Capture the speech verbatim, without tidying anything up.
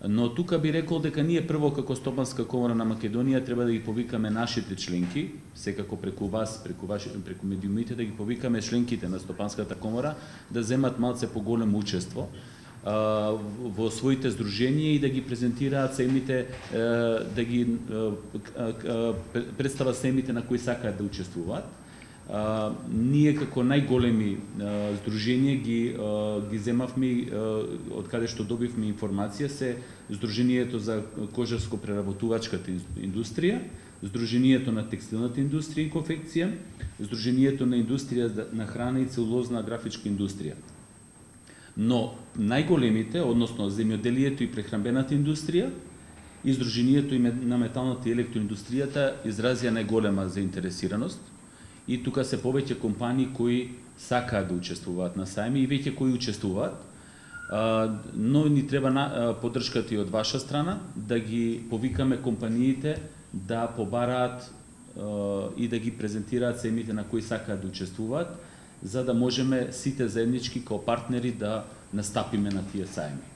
Но тука би рекол дека ние прво како Стопанска комора на Македонија треба да ги повикаме нашите членки, секако преку вас, преку ваши, преку медиумите да ги повикаме членките на Стопанската комора да земат малце поголемо учество во своите здруженија и да ги презентираат семите, да ги представат семите на кои сакаат да учествуваат. Uh, ние како најголеми uh, здруженија ги uh, ги земавме uh, од каде што добивме информација се Здруженијето за кожарско-преработувачката индустрија, Здруженијето на текстилната индустрија и конфекција, Здруженијето на индустрија на храна и целулозна графичка индустрија. Но најголемите, односно земјоделието и прехранбената индустрија и Здруженијето на металната и електроиндустријата изразија најголема заинтересираност. И тука се повеќе компании кои сакаат да учествуваат на сајми и веќе кои учествуваат, но ни треба поддршката и од ваша страна да ги повикаме компаниите да побараат и да ги презентираат семите на кои сакаат да учествуваат, за да можеме сите заеднички као партнери да настапиме на тие сајми.